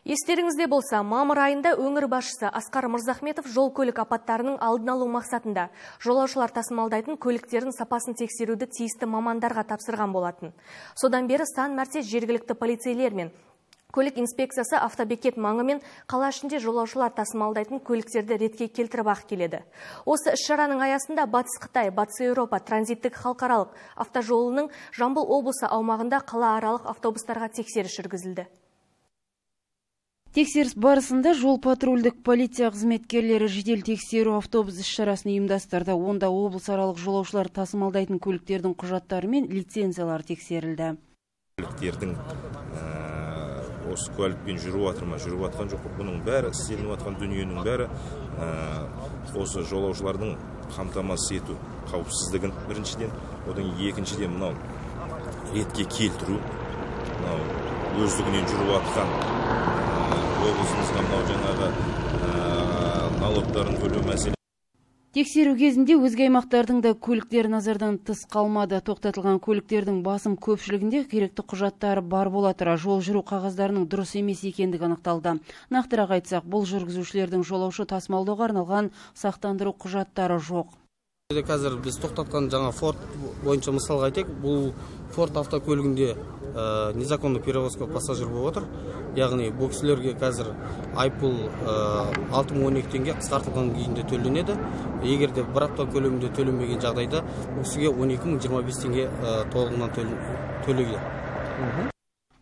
Естеріңізде болса, мамыр айында өңір басшысы Асқар Мырзахметов жол көлік апаттарының алдын алу мақсатында жолаушылар тасымалдайтын көліктердің сапасын тексеруді тиісті мамандарға тапсырған болатын. Содан бері сан мәрте жергілікті полицейлер мен көлік инспекциясы автобекет маңы мен қала ішінде жолаушылар тасымалдайтын көліктерді ретке келтіріп ақ келеді. Осы іс-шараның аясында Батыс Қытай, Батыс Еуропа транзиттік халықаралық автожолының Жамбыл облысы аумағында қалааралық автобустарға тексеріс жүргізілді. Тексеріс барысында жол-патрульдік полиция қызметкерлері жедел тексеру автобус іс-шарасын ұйымдастырды. Онда облысаралық жолаушылар тасымалдайтын көліктердің құжаттары мен лицензиялары тексерілді. Көліктердің осы куәлікпен жүріп жатыр ма, жүріп жатқан жоқ, бұның бәрі, істелініп жатқан дүниенің бәрі осы жолаушылардың қамтамасыз ету қауіпсіздігін біріншіден, одан екіншіден мынау ретке келтіру, мынау өздігінен жүріп жатқан облысымызға мынау жаңағы налогтарын төлеу мәселе. Тексеру кезінде өзге аймақтардың да көліктер назардан тыс қалмады. Тоқтатылған көліктердің басым көпшілігінде керекті құжаттары бар бола тұра жол жүру қағаздарының дұрыс емес екендігі анықталды. Нақтырақ айтсақ, бұл жүргізушілердің жолаушы тасымалдауға арналған сақтандыру құжаттары жоқ. Қазір біз тоқтатқан жаңа Форд бойынша мысалға айтайық, бұл Форд автокөлігінде незаконный перевозка пассажир болып отыр. Яғни бұл кісілерге қазір айыппұл 6012 теңге қысқартылған күйінде төленеді. Егер де бір апта көлемінде төленбеген жағдайда бұл кісіге 12025 теңге толығынан төлейді.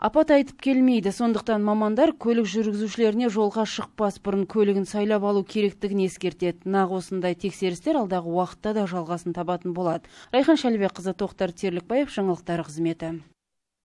Апат айтып келмейді, сондықтан мамандар көлік жүргізушілеріне жолға шықпас бұрын көлігін сайлап алу керектігін ескертеді. Нақ осындай тексерістер алдағы уақытта да жалғасын табатын болады. Райхан Шәлібекқызы, Тоқтар Терлікбаев, жаңалықтар қызметі.